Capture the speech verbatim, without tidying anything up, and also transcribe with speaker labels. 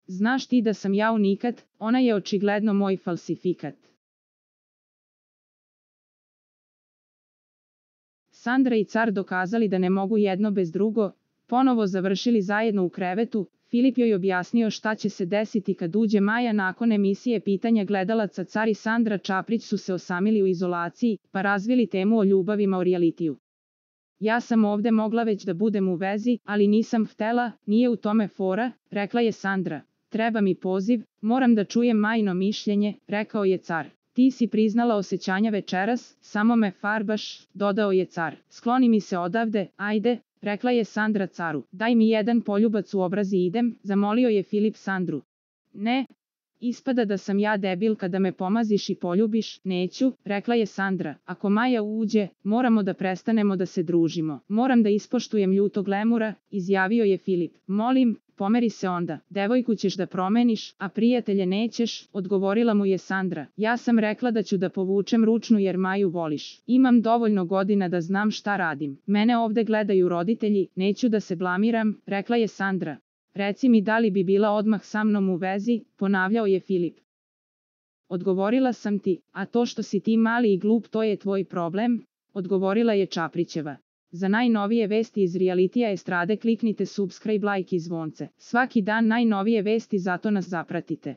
Speaker 1: Znaš ti da sam ja unikat, ona je očigledno moj falsifikat. Sandra i car dokazali da ne mogu jedno bez drugo, ponovo završili zajedno u krevetu. Filip joj objasnio šta će se desiti kad uđe Maja nakon emisije Pitanja gledalaca. Car i Sandra Čaprić su se osamili u izolaciji, pa razvili temu o ljubavima o realitiju. Ja sam ovde mogla već da budem u vezi, ali nisam htela, nije u tome fora, rekla je Sandra. Treba mi poziv, moram da čujem Majino mišljenje, rekao je car. Ti si priznala osjećanja večeras, samo me farbaš, dodao je car. Skloni mi se odavde, ajde, rekla je Sandra caru. Daj mi jedan poljubac u obraz i idem, zamolio je Filip Sandru. Ne, ispada da sam ja debil kada me pomaziš i poljubiš, neću, rekla je Sandra. Ako Maja uđe, moramo da prestanemo da se družimo. Moram da ispoštujem ljutog lemura, izjavio je Filip. Molim, pomeri se onda, devojku ćeš da promeniš, a prijatelje nećeš, odgovorila mu je Sandra. Ja sam rekla da ću da povučem ručnu jer Maju voliš. Imam dovoljno godina da znam šta radim. Mene ovde gledaju roditelji, neću da se blamiram, rekla je Sandra. Reci mi da li bi bila odmah sa mnom u vezi, ponavljao je Filip. Odgovorila sam ti, a to što si ti mali i glup to je tvoj problem, odgovorila je Čaprićeva. Za najnovije vesti iz realitija estrade kliknite subscribe, like i zvonce. Svaki dan najnovije vesti, zato nas zapratite.